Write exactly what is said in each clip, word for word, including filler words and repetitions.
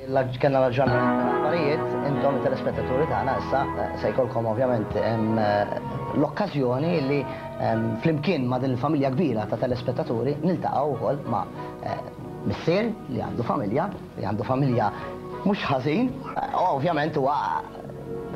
Kellna l-aġġornament tal-aħbarijiet, intom telespettaturi tagħna issa eh, se jkollkom ovvjament em, eh, l-okkażjoni li em, flimkien ma' din il-familja kbira ta' telespettaturi niltaqgħu wkoll ma' eh, missier li għandu familja, li għandu familja mhux ħażin, eh, ovvjament huwa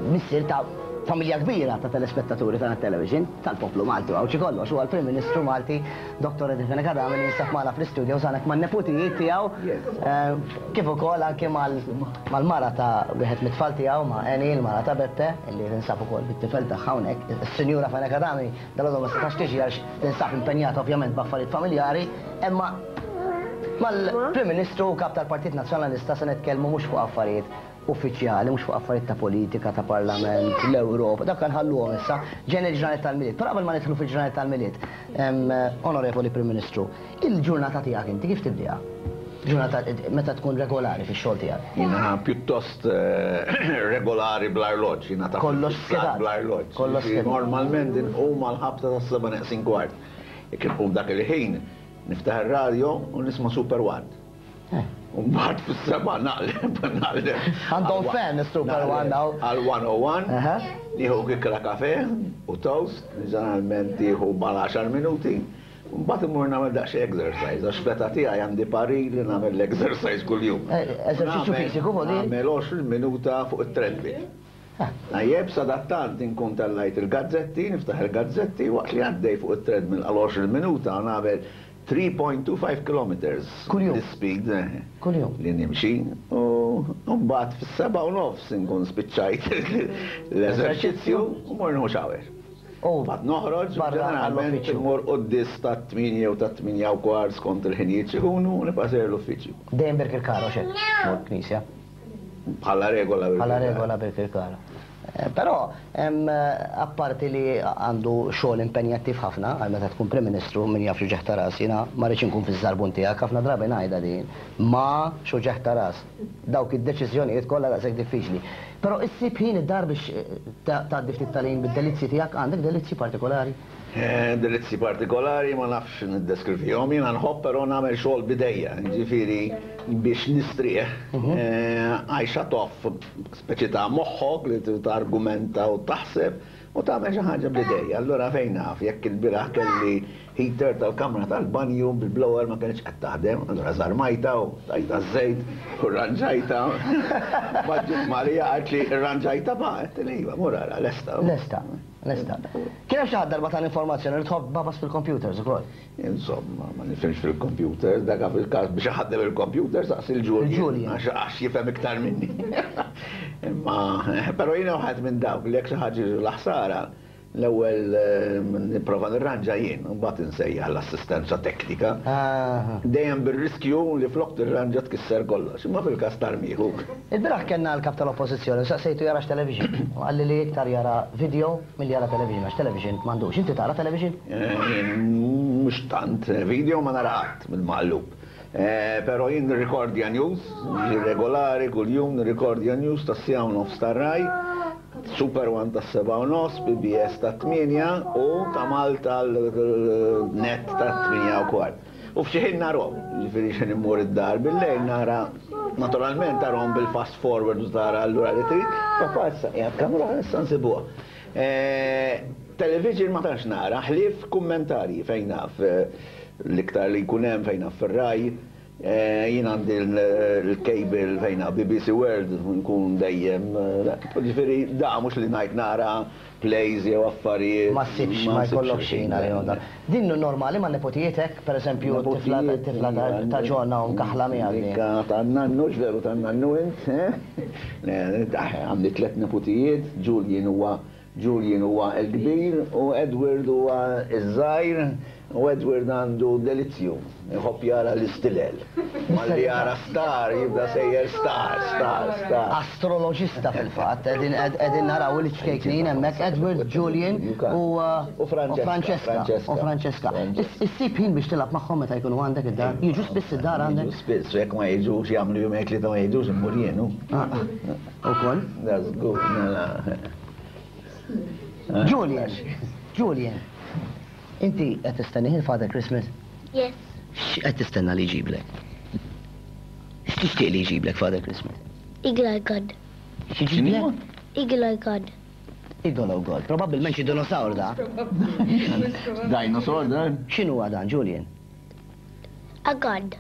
missier ta' familja kbira ta' telespettaturi ta' television tal-poplu Malti u għawċi kollox huwa l-Prim Ministru Malti Dottor Eddie Fenech Adami li jinsab magħna fl-istudio hawnhekk man-neputijiet tiegħu eh, kif ukoll anke mal-mara ta' wieħed mit-tfal tiegħu, ma' Eni, il-mara ta' Beppe, illi tinsab ukoll bit-tifel tagħha hawnhekk. Is-Sinjura Fenech Adami dalgħodu ma setax tiġi għax tinsab impenjata ovvjament b'affarijiet familjari, imma mal-Prim Ministru u kap tal-Partit Nazzjonalista se nitkellmu mhux fuq affarijiet uffiċjali, mhux fuq affarijiet ta' politika, ta' parlament, l-Ewropa, dak nħalluhom issa, ġejjin il-ġranet tal-Milied. Però qabel ma nidħlu fil-ġranet tal-Milied, em, Onorevoli Prim Ministru, il-ġurnata tiegħek inti kif tibdiha? Ġurnata meta tkun regolari fix-xogħol tiegħek? Jiena pjuttost eh, regolari bl-arloġġ, jiena ta' Kollox skedat. Bl-arloġġ. Kollox Jiġifieri skedat. Normalment inqum għal-ħabta ta' seba' neqsin kwart. Jekk inqum dak il-ħin, niftaħ ir-radio u nisma' Super One. Eh. U mbagħad fis-seba' naqleb, naqleb. Għandhom għal- fan is-Super naqleb One daw. Għal one oh one, Aha. nieħu kikra kafe u toast, ġeneralment tieħu mal għaxar minuti. Mbagħad immur nagħmel daqsxejn exercise, għax fl-età tiegħi għandi parir li nagħmel l-exercise kuljum. Eh, eżerċizzju Nagħmel- fiżiku, vuol dire? Nagħmel għoxrin minuta fuq it-treadmill. Ah. Tajjeb, sadattant inkun tellajt il-gazzetti, niftaħ il-gazzetti, waqt li għaddej fuq it-treadmill għal għoxrin minuta nagħmel three point two five kilometers. Kuljum? L-speed eh, Kuljum? li nimxi. U mbagħad fis-seba' u nofs inkun spiċċajt l-eżerċizzju u mor nieħu shower. U Mbagħad noħroġ, barra ġeneralment għall-uffiċċju. immur quddies ta' tmienja u ta' tmienja u kwart skont il-ħinijiet x'ikunu u nibqa' sejjer l-uffiċċju. Dejjem Birkirkara, xek, mur knisja. Bħala regola. Bħala regola Birkirkara. Eh, Però, em, apparti li għandu xogħol impenjattiv ħafna, għal meta tkun Prim Ministru, min jaf x'uġigħ ta' ras, jiena ma rridx inkun fiż-żarbun tiegħek, ħafna drabi ngħidha din, ma x'uġigħ ta' ras. Dawk id-deċiżjonijiet kollha daqshekk diffiċli. Però issib ħin id-dar biex eh, ta- tgħaddi ftit tal-ħin bid-delizzji tiegħek, għandek delizzji partikolari? Eh, Delizzji partikolari ma nafx niddeskrivihom, jiena nħobb però nagħmel xogħol b'idejja, ġifieri biex nistrieħ. Eh, I shut off speċi ta' moħħok li targumenta u taħseb u tagħmel xi ħaġa b'idejja. Allura fejn naf, jekk il-bieraħ kelli heater tal-kamra tal-banju bil-blower ma kienx qed taħdem, allura żarmajta u tajta żejt u rranġajta. Maġġiet Marija qalt li rranġajta ma, għedt iva, mur ara, lesta. Lesta, lesta. Kien hemm xi ħadd darba tal-informazzjoni li tħobb tbagħbas fil-computers ukoll. Insomma, ma nifhimx fil-computer, dak fil-każ biex ħaddem il-computer saqsi il-Julian. Il-Julian. Għax għax jifhem iktar minni. Imma, però jiena wieħed minn dawk li jekk xi ħaġa l-ħsara, l-ewwel eh, nipprova nirranġa jien, u mbagħad insejjaħ l-assistenza teknika. Ah. Dejjem bir-riskju li flok tirranġa tkisser kollox, imma fil-każ tarmiħu. Il-bieraħ kellna l-kap tal-oppożizzjoni, saqsejtu jarax television. U qalli li iktar jara video milli jara television, għax television m'għandux. Inti tara television? Eh, jien mhux tant, video ma nara qatt mill-maqlub. Eh, Però jien nirrikordja news, regolari kuljum nirrikordja news ta' siegħa u nofs tar-Rai, Super One ta' seba' u nofs, P B S ta' tmienja u ta' Malta l-net ta' tmienja u kwart. U f'xi ħin narahom, ġifieri x'ħin immur id-dar bil-lejl nara, naturalment tarahom bil-fast forward u tara allura li trid, papà issa qiegħed kamra issa nsibuha. Eh, Television ma tantx nara, ħlief kummentarji fejn naf eh, l-iktar li jkun hemm fejn naf fir-Rai, eh, jien għandi l-cable fejn naf B B C World nkun dejjem, eh, ġifieri da mhux li ngħid nara plays jew affarijiet. Ma ssibx, ma jkollokx ħin għalihom dan. Din normali ma' nepotijietek, per eżempju, tifla tifla ta' ġonna u mkaħla miegħek din. Dikka ta' nannu, veru ta' nannu int, eh? Le, għandi tlet nepotijiet, Julian huwa Julian huwa l-kbir u Edward huwa iż-żgħir u Edward għandu delizzju, iħobb jara l-istilel. Malli jara star, jibda sejjer star, star, star. Astrologista fil-fatt, qegħdin qegħdin naraw il-ċkejknin hemmhekk Edward, Julian u uh, U Francesca, Francesca. U Francesca. Francesca. Is- Issib ħin biex tilgħab magħhom meta jkunu għandek id-dar? Jiġu spiss id-dar għandek? Jiġu spiss, jekk ma jiġux jagħmlu jum li ta' ma jiġux immur jien. hu. Ah, ah. Ukoll? That's good. Mela. Julian, Julian, inti qed tistenni il-Father Christmas? Yes. X'qed tistenna li jġiblek? X'tixtieq li jġiblek Father Christmas? Eagle God. X'jġiblek? Eagle God. Eagle God. Probabbilment xi dinosaur da. Dinosaur dan? X'inhu dan, Julian? A god.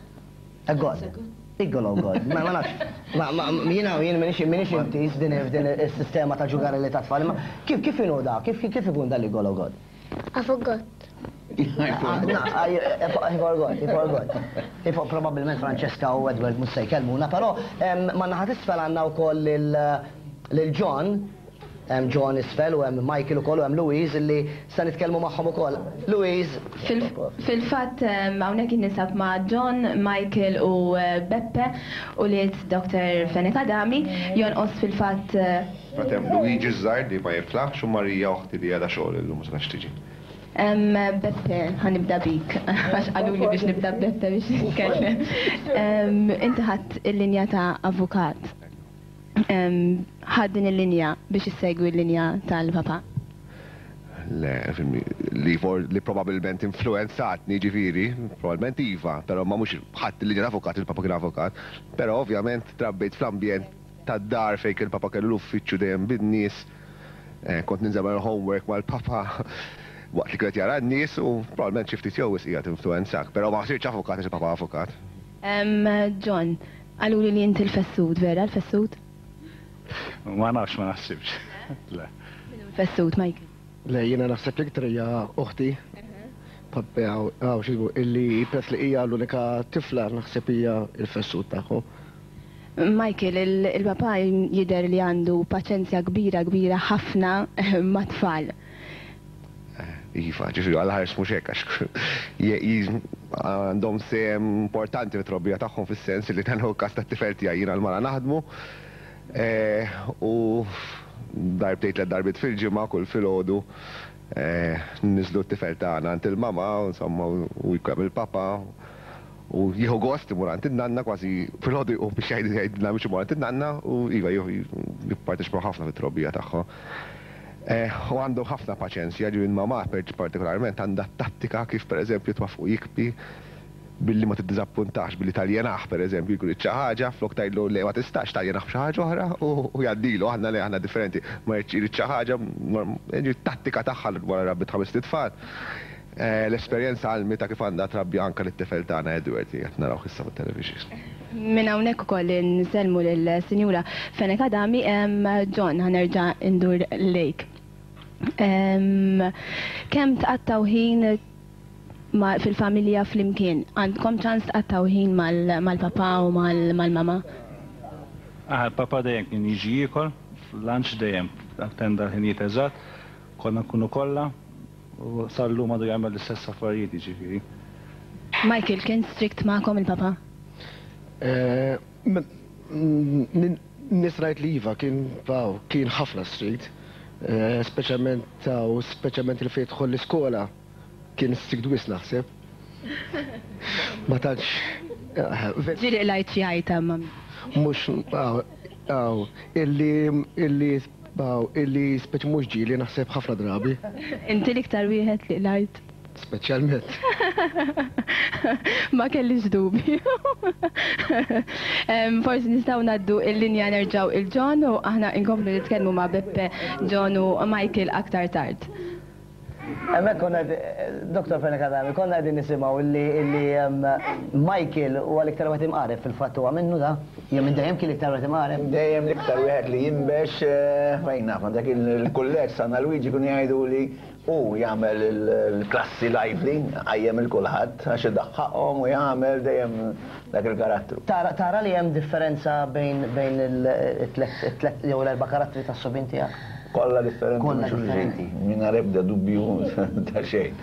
A god. Eagle God. Ma ma nafx. Ma ma jiena jien minix minix intiż din din is-sistema ta' ġugarelli ta' tfal. Ma kif kif inhu da? Kif kif ikun dan l-Eagle God? I forgot. Ah, no, I, I forgot, I forgot. Ifo probabbilment Francesca u Edward mhux se jkellmuna, però ma naħa t'isfel għandna wkoll lil John, hemm John isfel u hemm Michael ukoll u hemm Louise illi se nitkellmu magħhom ukoll. Louise. Fil-fatt hawnhekk ninsab ma' John, Michael u eh, Beppe u liet Doctor Fenech Adami jonqos fil-fatt eh, Fatem Luigi ż-żgħir li ma jiflaħx u Marija oħti li għadha xogħol illum ma setax tiġi. Em, Beppe, ħa nibda bik, għax qaluli biex nibda Beppe biex nitkellem. Em, Inti ħadt il-linja ta' avukat. Em, Ħadt din il-linja biex issegwi l-linja tal-papa. Le, fimni, li, for, li probabilment influenzatni ġifieri, probabilment iva, pero ma mhux ħadt il-linja avukat, il-papa kien avukat, pero ovvjament trabbejt fl-ambjent tad-dar fejn il-papa kellu l-uffiċċju dejjem bin-nies, eh, kont ninżel homework mal-papa waqt li kienet jara n-nies u probabbilment xi ftit jew wisq qiegħed influenzak, però ma sirtx avukat għax il-papa avukat. Em, John, qaluli li inti l-fessut, vera l-fessut? Ma nafx, ma naħsibx. Le. Fessut, Michael. Le, jiena naħseb l-iktar hija oħti. Pappi għaw, għaw, xizbu, illi peress li hija l-unika tifla naħseb hija il-fessut tagħhom. Michael, il- il-papa jidher li għandu paċenzja kbira kbira ħafna ma' tfal. Iva, ġifieri għal ħares mhux hekk għax je- ji- għandhom sehem importanti fit-trobbija tagħhom, fis-sens li dan hu każ tat-tifel tiegħi, jiena l-mara naħdmu eh, u darbtejn, tliet darbiet fil-ġimgħa, kull filgħodu eh, niżlu t-tifel tagħna għand il-mama, insomma, u jkun il-papa u jieħu gost imur għand in-nanna, kważi filgħodu jqum biex jgħid jgħidilna biex imur għand in-nanna u iva jipparteċipaw ħafna fit-trobbija tagħhom. Eh, U għandu ħafna paċenzja, ġivin mama partikolarment għandha tattika kif per eżempju twaffqu jibki billi ma tiddiżappuntax, billi taljenah per eżempju, jkun xi ħaġa, flok tgħidlu le, ma tistax, taljenah b'xi ħaġa oħra u u jgħaddilu. Aħna le, aħna differenti, ma jrid xi ħaġa, tattika tagħha wara rabbit ħames tfal. Eh, L-esperjenza għallmitha kif għandha trabbi anka lit-tifel tagħna Edward, qed naraw issa fit-television. Minn hawnhekk ukoll nsellmu lill-Sinjura Fenech Adami, em, John, ħa nerġa' ndur lejk. Em, Kemm tqattaw ħin ma- fil-familja flimkien? Għandkom ċans tqattaw ħin mal- mal-papa u mal- mal-mama? Ah, il-papa dejjem kien jiġi jiekol, lunch dejjem, attenda l-ħinijiet eżatt, konna nkunu kollha, u sal-lum għadu jagħmel l-istess affarijiet ġifieri. Michael, kien strict magħkom il-papa? Eh, Nisrajt li iva, kien wow, kien ħafna strict. Eh, Speċjalment taw, speċjalment il fejn tidħol l-iskola, kien strict wisq naħseb. Ma tantx. eh, ve- Ġieli qlajt xi għajta ma. Mhux, aw, aw, illi, illi, aw, illi speċi mhux ġieli, naħseb ħafna drabi, Inti l-iktar wieħed li qlajt? Speċjalment. Ma kellix dubju. Em, Forsi nistgħu ngħaddu il-linja nerġgħu lil John u aħna inkomplu nitkellmu ma' Beppe, John u Michael aktar tard. Hemmhekk konna, Doktor Fenech Adami, konna qegħdin nisimgħu illi illi em, Michael huwa l-iktar wieħed imqareb. Fil-fatt huwa minnu da? Jew minn dejjem kien l-iktar wieħed imqareb? Dejjem l-iktar wieħed li jinbex, eh, fejn naf, dak il-kulleġġ San Luigi kun jgħidu li u jagħmel il-klassi lively, għajjem il-kulħadd għax idaħħaqhom u jagħmel dejjem dak il-karattru. Tara, tara li hemm differenza bejn bejn il-tlet jew l-erba' karattri tas-subien tiegħek? Kollha differenti. Kollha minn xulxin. Differenti. Mingħajr ebda dubju ta' xejn.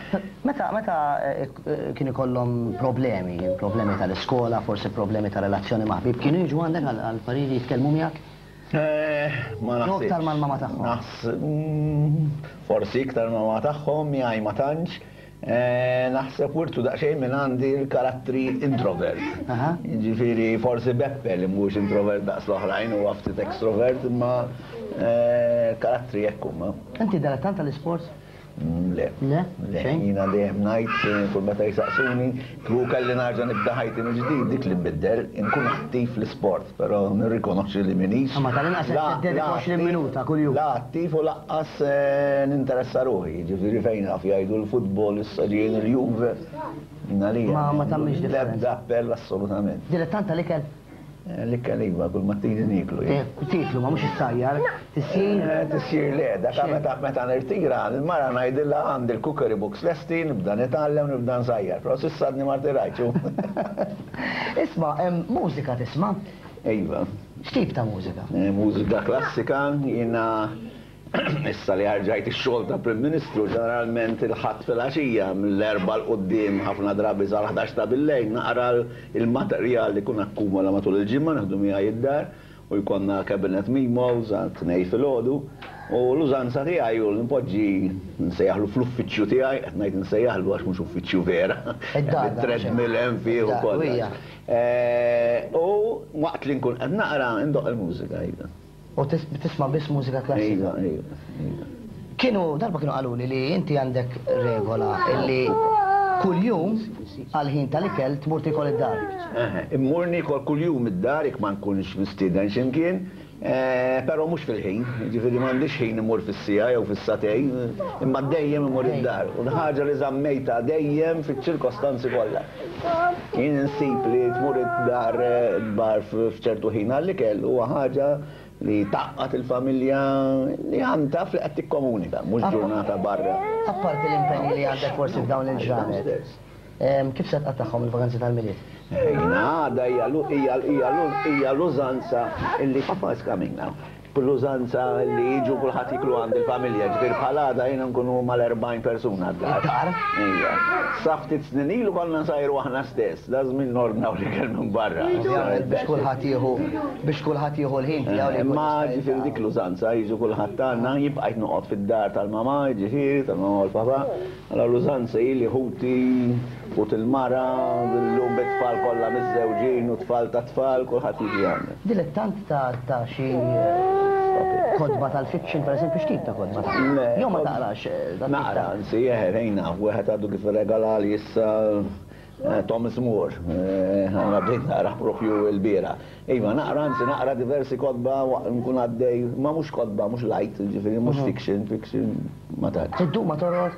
Meta meta eh, eh, kien ikollhom problemi, problemi tal-iskola, forsi problemi ta' relazzjoni ma' ħbib, kienu jiġu għandek għal għal pariri, jitkellmu miegħek? Eh, Ma Jew naħsibx. iktar mal-mama tagħhom? Naħs, mm, forsi iktar mal-mama tagħhom, miegħi ma tantx. Eh, Naħseb wirtu daqsxejn minn għandi l-karattri introvert. Aha. Ġifieri forsi Beppe li mhux introvert daqs l-oħrajn u ftit extrovert, imma eh, karattri hekk huma. Inti dilettant tal-isport? Le. Le? Le, Xejn? jiena dejjem ngħid kull meta jsaqsuni, kieku kelli nerġa' nibda ħajti mill-ġdid dik li nbiddel, inkun attiv fl-isport, però nirrikonoxxi li m'iniex. Ma tal-inqas qed La- tiddedika la għoxrin attiv- minuta kuljum. La attiv u lanqas eh, ninteressa ruħi, ġifieri fejn naf jgħidu l-futbol, issa ġejjin il-Juve. Jiena lija. Ma- ma tagħmilx differenza. L-ebda appell assolutament. Dilettant tal-ikel? Eh, L-ikel iva, kull mattini niklu. jien. Tiklu, ma mhux issajjar. Tisjir? Eh, Tisjir le, dak Xejn. meta meta nirtira, il-mara ngħidilha għandi l-cookery books lesti, nibda nitgħallem, nibda nsajjar, però s'issa għadni ma rtirajtx. Isma', em, mużika tisma'? Iva, X'tip ta' mużika? eh, mużika klassika, jiena issa li rġajt ix-xogħol ta' Prim Ministru, ġeneralment il-Ħadd filgħaxija mill-erbgħa 'l quddiem ħafna drabi sal-ħdax ta' billejl naqra il-materjal li kun akkumula matul il-ġimgħa nieħdu miegħi id-dar u jkollna cabinet memos għal tnejn filgħodu u l-użanza tiegħi u npoġġi nsejjaħlu fl-uffiċċju tiegħi, qed ngħid nsejjaħlu għax mhux uffiċċju vera. Id-dar, da, Treadmill hemm fih Id-dar, ukoll. hija. Eh, U waqt li nkun qed naqra ndoqq il-mużika iva. U tis- tisma' biss mużika klassika? Iva, iva, iva. Kienu, darba kienu qaluli li inti għandek regola illi kuljum għal-ħin tal-ikel tmur tikol id-dar. Eħe, Immur nikol kuljum id-dar jekk ma nkunx mistieden x'imkien, eh, però mhux fil-ħin, ġifieri m'għandix ħin immur fis-siegħa jew fis-sagħtejn, imma dejjem immur id-dar. U ħaġa li żammejta dejjem fiċ-ċirkostanzi kollha. Jien insib li tmur id-dar eh, bar f'ċertu ħin għall-ikel huwa ħaġa li tgħaqqad il-familja li għandha li qed tikkomunika, mhux ġurnata barra. Apparti l-impenji li għandek forsi f'dawn il-ġranet, em, kif se tqattagħhom il-vakanzi tal-Milied? Jiena għada hija lu- hija hija lu- hija l-użanza illi papa is coming now. L-użanza li jiġu kulħadd jiklu għand il-familja, ġifieri bħal għada jiena nkunu mal-erbgħin persuna d-dar. Id-dar? Ija. Sa ftit snin ilu konna nsajru aħna stess, da żmien nordnaw l-ikel minn barra. Ovvjament biex kulħadd jieħu biex kulħadd jieħu l-ħin tiegħu li jkun Imma jista' ġifieri dik l-użanza jiġu kulħadd tagħna jibqa' noqgħod fid-dar tal-mama, ġifieri tal-mama u l-papa. Allora l-użanza hi li ħuti ħut il-mara, llum bit-tfal kollha miżżewġin u tfal ta' tfal, kulħadd jiġi għandna. Dilettant ta' ta' xi eh, kotba tal-fiction, per eżempju, x'tip ta' kotba? Le, Jew ma kod- taqrax eh, dat tip Naqra, ta' anzi, jeħe, wieħed għadu kif regalali issa eh, Thomas More, eh, għana bdejt naqra propju l-bieraħ. Iva, naqra, anzi, naqra diversi kotba, waqt nkun għaddej, ma mhux kotba, mhux light, ġifieri, mhux fiction, fiction, ma tantx. Iddum ma torqod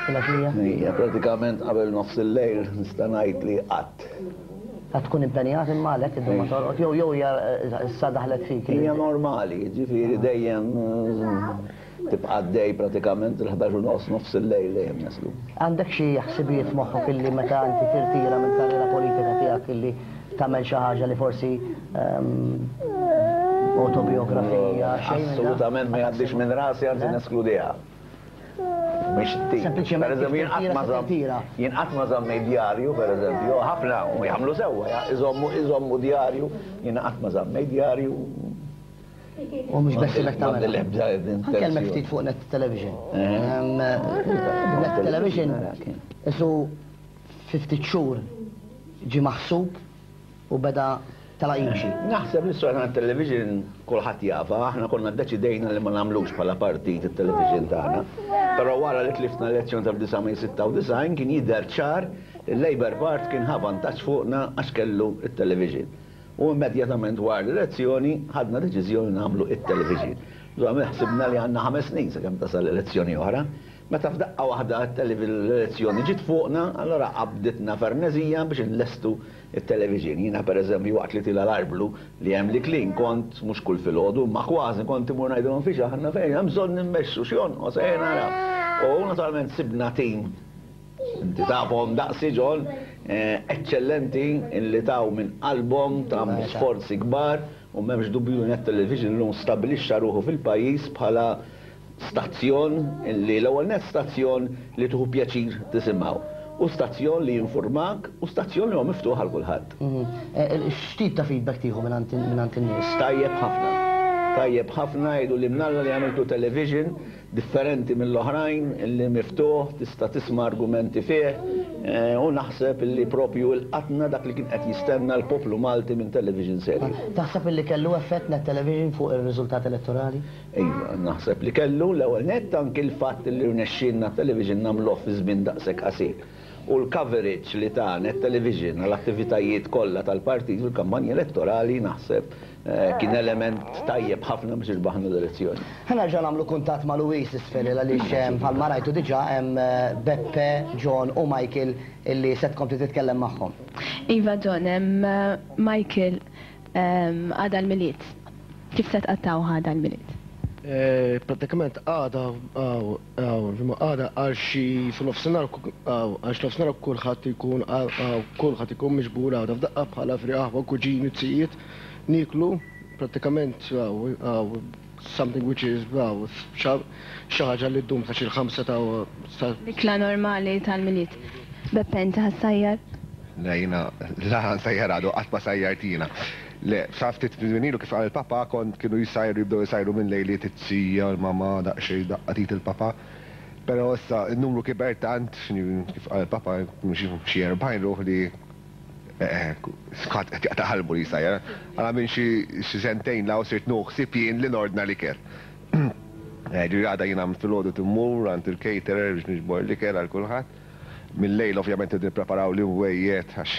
fil-għaxija? Ija, pratikament qabel nofs il-lejl nista' ngħid li qatt. Għad tkun impenjat imma għalhekk iddum ma torqod jew jew hija eh, issa daħlet fik. Hija normali, ġifieri dejjem eh, tibqa' għaddej pratikament il-ħdax u nofs nofs il-lejl dejjem naslu. Għandek xi ħsibijiet f'moħħok illi meta inti tirtira minn karriera politika tiegħek illi tagħmel xi ħaġa li forsi ehm, autobiografija xejn minn dan? Assolutament ma jgħaddix minn rasi, anzi Le? neskludiha. Mhix tip. Sempliċement Per eżempju, jien qatt ma tirtira se żamm- tirtira. jien qatt ma żammejt djarju, per eżempju, ħafna u jagħmlu sewwa, ja, iżommu iżommu djarju, jien qatt ma żammejt djarju. U mhux beħsiebek M'għandi tagħmel. l-ebda Ħa nkellmek ftit fuq Net Television. Eh. Ehm, Net Television isu ftit xhur ġi maħsub u beda tala jimxi. Naħseb li s television kulħadd jafa, aħna konna ddeċidejna li ma nagħmlux bħala partit it-television tagħna. Però wara li tlifna l-elezzjoni tal-elf disa' mija sitta u disgħin kien jidher ċar il-Labour Party kien ħa vantaġġ fuqna għax kellu it-television. U immedjatament wara l-elezzjoni ħadna deċiżjoni nagħmlu it-television. Żgħam ħsibna li għandna ħames snin sakemm tasal l-elezzjoni oħra. Meta f'daqqa waħda l-elezzjoni ġiet fuqna, allora qabditna fernezija biex nlestu it-television. Jiena per eżempju waqt li tila l-arblu li hemm li klin kont mhux kull filgħodu, ma kważi kont imur ngħidulhom fiex aħna fejn hemm bżonn nimmexxu x'jonqos ejja naraw. U naturalment sibna tim inti tafhom daqsi John, eh, eccellenti illi taw minn qalbhom, ta' sforzi kbar u m'hemmx dubju Net Television llum stabilixxa ruħu fil-pajjiż bħala stazzjon li l-ewwel net stazzjon li tieħu pjaċir tisimgħu. U stazzjon li jinformak u stazzjon li huwa miftuħ għal kulħadd. Mhm. Eh, X'tip ta' feedback tieħu minn minn in-nies? Tajjeb ħafna. Tajjeb ħafna jgħidu li mnalla li għamiltu television differenti mill-oħrajn, li miftuħ, tista' tisma' argumenti fih, U naħseb li propju il-qatna dak li kien qed jistenna l-poplu Malti minn television serju. Taħseb li kellu effett Net Television fuq ir-riżultat elettorali? Iva, naħseb li kellu. L-ewwel nett anki l-fatt li rnexxielna television nagħmluh fi żmien daqshekk qasir. U l-coverage li ta' Net Television għall-attivitajiet kollha tal-partit fil-kampanja elettorali naħseb kien element tajjeb ħafna biex irbaħna l-elezzjoni. Ħa nerġa' nagħmlu kuntatt ma' Louise isfel, għaliex bħalma rajtu diġà hemm Beppe, John u Michael illi se tkompli titkellem magħhom. Iva John, hemm Michael, għada l-Milied. Kif se tqattgħu għada l-Milied? Pratikament għada, għada għal xi f'nofsinhar, għal xi nofsinhar kulħadd ikun kulħadd ikun miġbur għada f'daqqa bħala fri aħwa, kuġini, zijiet, niklu pratikament something which is xi ħaġa li ddum ta' xi ħamsa ta' Ikla normali tal-Milied. Beppe, inti ħa ssajjar? Le, jiena, la nsajjar għadu, qatt ma sajjart jiena. Le, sa ftit ilu kif qal il-papa kont kienu jisajru, jibdew jisajru minn lejliet it-tija, l-mama, daqsxejn daqqatit il-papa. Però issa n-numru kiber tant, kif qal il-papa, xi erbgħin ruħ li skat qed jaqta' qalbu li jsajjar. Għala minn xi sentejn law sirt nuħsib jien li nordna l-ikel. Ġifieri għada jiena filgħodu timmur għand il-caterer biex niġbor l-ikel għal kulħadd. Mill-lejl ovvjament nippreparaw l-imwejjed għax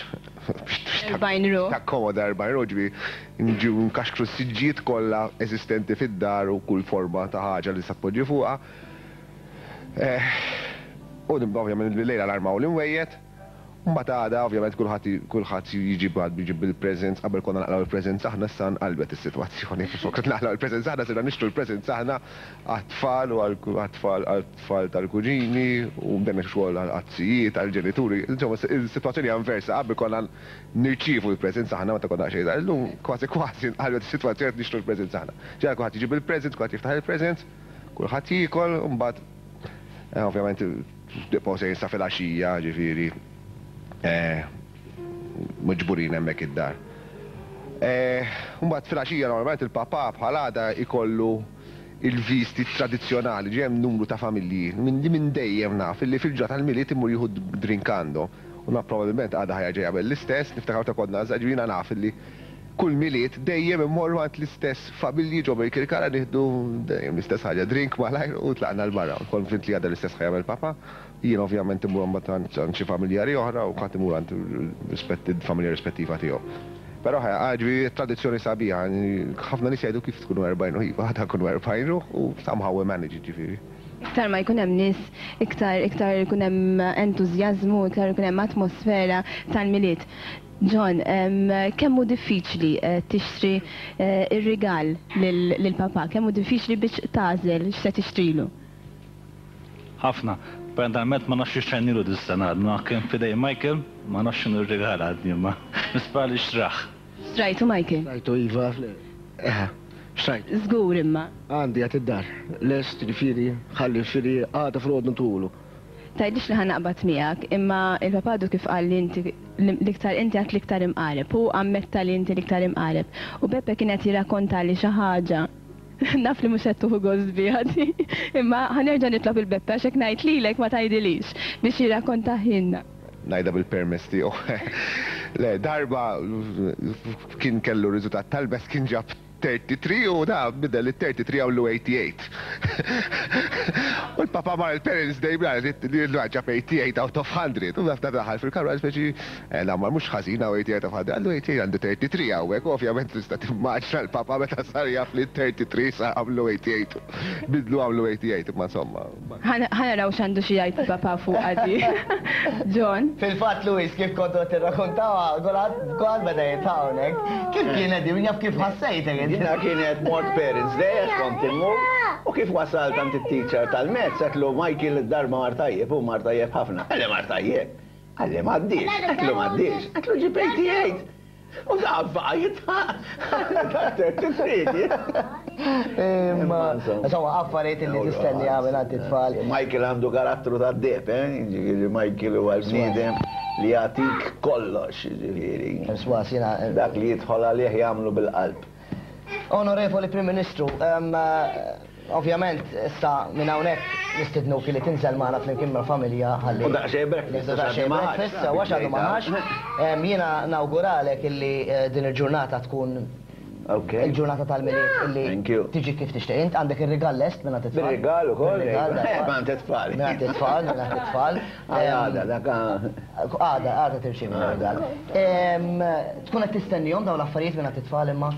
Erbgħin ruħ. Takkomoda erbgħin ruħ, ġifieri nġu nkaxkru s-siġġijiet kollha eżistenti fid-dar u kull forma ta' ħaġa li sappoġġi fuqha. U ovvjament bil-lejla l-armaw l-imwejjed. Mbagħad għada ovvjament kulħadd kulħadd jiġi bad jiġi bil-presents. Qabel konna naqlaw il-presents aħna, issa nqalbet is-sitwazzjoni. Flok naqlaw il-presents aħna, sirna nixtru il-presents aħna għat-tfal u għat-tfal għat-tfal tal-kuġini u bdejna xogħol għall-qazzijiet, għall-ġenituri. Insomma, is-sitwazzjoni hija inversa. Qabel konna nirċievu il-presents aħna meta konna xejn. Illum kważi kważi nqalbet is-sitwazzjoni, nixtru il-presents aħna. Ġara kulħadd jiġi bil-presents, kulħadd jiftaħ il-presents, kulħadd jiekol, u mbagħad ovvjament nibqgħu sejrin sa filgħaxija, ġifieri miġburin hemmhekk id-dar. Mbagħad filgħaxija normalment il-papà bħal għada ikollu il-visti tradizzjonali, ġie hemm numru ta' familji minn li minn dejjem naf illi fil-ġurnata tal-Milied imur jieħu drink għandhom. U na probabbilment għada ħajja ġejja l-istess, niftakar ta' konna żgħar, jiena naf illi kull Milied dejjem immorru għand l-istess familji ġo Birkirkara nieħdu dejjem l-istess ħaġa, drink malajr u tlaqna 'l barra. Konvint li għada l-istess ħa jagħmel papà. Jien ovvjament immur mbagħad għand xi familjari oħra u ħadd imur għand familja rispettiva tiegħu. Però ġifieri tradizzjoni sabiħa, ħafna nies jgħidu kif tkunu erbgħin ruħ, iva, għada kunu erbgħin ruħ u somehow we manage, ġifieri. Iktar ma jkun hemm nies, iktar iktar ikun hemm entużjażmu, iktar ikun hemm atmosfera tal-Milied. John, kemm hu diffiċli tixtri ir-rigal lill-papà? Kemm hu diffiċli biex tagħżel x'se tixtrilu? Ħafna. Parentalment ma nafx x'xtrajnilu dis-sena, għadna kien f'idej Michael, ma nafx x'inhu r-rigal għadni, ma nispera li xtrah. Xtrajtu, Michael? Xtrajtu iva, xtrajt. Żgur imma. Għandi għad id-dar, lest, ġifieri, ħalli ġifieri għada filgħodu ntulu. Tgħidlix li ħa naqbad miegħek, imma il-papà għadu kif qal li inti l-iktar inti għad l-iktar imqareb, u ammetta li inti l-iktar imqareb. U Beppe kien qed jirrakkonta li xi ħaġa. Naf li mhux qed tieħu gost biha di, imma ħa nerġa' nitlob il-Beppe għax hekk ngħid lilek ma tgħidilix biex jirrakkontahielna. Ngħidha bil-permess tiegħu. Le, darba kien kellu riżultat tal-best, kien ġab thirty-three u da bidel il-thirty-three għamlu eighty-eight. U l-papa mar il-Parents Day bla li ġab eighty-eight out of hundred. U nafta daħal fil-kamra speċi, la mar mhux ħażin hawn eighty-eight out of hundred. Għallu eighty-eight għandu thirty-three hawnhekk, u ovvjament tista' timmaġna l-papa meta sar jaf li thirty-three sa għamlu eighty-eight. Bidlu għamlu eighty-eight, imma insomma. Ħa naraw x'għandu xi jgħid il-papa fuq għadi. John? Fil-fatt, Louis, kif kontu tirrakkontaw, kulħadd beda jitħawnek. Kif kienet di, jaf kif ħassejtek? Jiena kienet mort Parents Day, għax kont immur, u kif wasalt għand it-teacher tal-mezz, għedtlu Michael id-darba mar tajjeb, u mar tajjeb ħafna. Għalli mar tajjeb. Għalli m'għaddix, għedtlu m'għaddix, għedtlu ġib eighty-eight. U da baqa' jitħaq. Imma, insomma, affarijiet li tistenni għamil għand it-tfal. Michael għandu karattru ta' deb, eh? Ġifieri Michael huwa l-bniedem li jagħtik kollox, ġifieri. Swas, jiena, Dak li jidħol għalih jagħmlu bil-qalb. Onorevoli Prim Ministru, ovvjament issa minn hawnhekk Nistidnuk li tinżel magħna flimkien mal-familja ħalli. U daqsxejn breakfast, Nieħdu daqsxejn għax għadu ma ħax, breakfast, sewwa għax għadu ma ħax. Em, Jiena nawguralek illi eh, din il-ġurnata tkun Ok. il-ġurnata tal-Milied illi Thank you. tiġi kif tixtieq. Int għandek ir-rigal lest minn it-tfal. Bir-rigal ukoll, Bir-rigal, eh, darba. minn it-tfal. Minn it-tfal, minn it-tfal. Għada, dak. Għada, għada tirċievi r-rigal. Em, Tkun qed tistennihom dawn l-affarijiet minn it-tfal imma?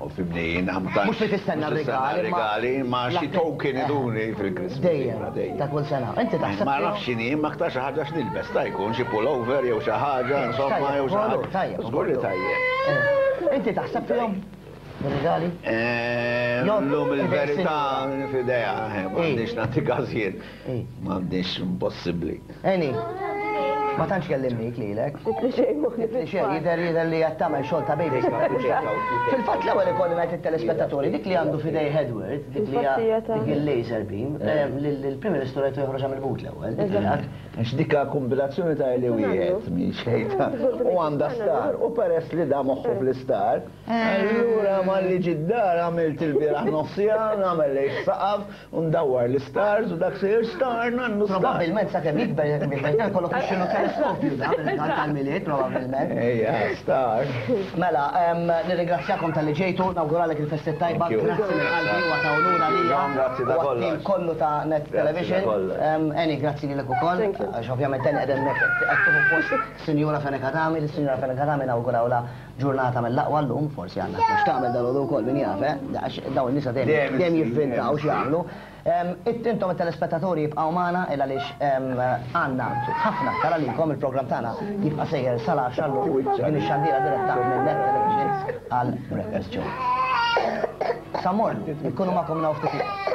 U fibni, namta. Mhux li tistenna r-rigali, imma- Regali, ma xi token iduni fil-Christmas. Dejjem, ta' kull sena. Inti taħseb Ma fihom? nafx x'inhi, ma aktar xi ħaġa x'nilbes, ta' jkun xi pullover jew xi ħaġa, insomma, jew xi ħaġa. Tajjeb, Żgur li tajjeb. Eh, Inti taħseb fihom? Bir-rigali? Eh, Jo, Llum il-verità f'idea, eh, m'għandix nagħti każijiet. Eh. M'għandix impossibbli. Eni, ma tantx kellimnik lilek. Li xejn moħħni Li xejn, jidher jidher li qed tagħmel xogħol ta' baby. Fil-fatt l-ewwel ikolli ngħid it-telespettaturi, dik li għandu f'idej Edward, dik li Infatti, hija ta' dik il-laser beam, eh, l-Prim Ministru rajtu joħroġ mill-but l-ewwel. dik li għad. Għax dika kombinazzjoni ta' li wieħed mi xejta u għandha star u peress li da moħħu fl-istar, allura malli ġid-dar għamilt il-bieraħ nofsija, nagħmel lejn saqaf u ndawwar l-stars u dak sejjer star nannu star. Probabbilment sakemm jikber jikber jkollok ixxilu teleskopju da bil tal-Milied probabbilment. Ejja, star. Mela, em, nirringrazzjakom talli ġejtu, nawguralek il-festi tajba, Thank you. grazzi minn qalbi u ta' unura lija. John, grazzi ta' u għat-tim kollox. kollu ta' Net Grazzi ta' Television. kollox. Em, Eni, grazzi lilek ukoll. Thank you. Għax ovvjament Eni qegħdin hemmhekk qed tieħu post Sinjura Fenech Adami, lis-Sinjura Fenech Adami nawgurawla ġurnata mill-aqwa llum, forsi għandna x'tagħmel tagħmel dal ukoll min jaf, eh? Għax dawn in-nisa dejjem Dejjem dejjem issir, jivvintaw dejjem x'jagħmlu. Em, it- Intom it-telespettaturi jibqgħu magħna il għaliex em, għandna ħafna aktar għalikom il-programm tagħna jibqa' sejjer sal-għaxra llum din ix-xandira diretta minn Net Television għal Breakfast Show. Samor, ikunu magħkom naw ftit ieħor.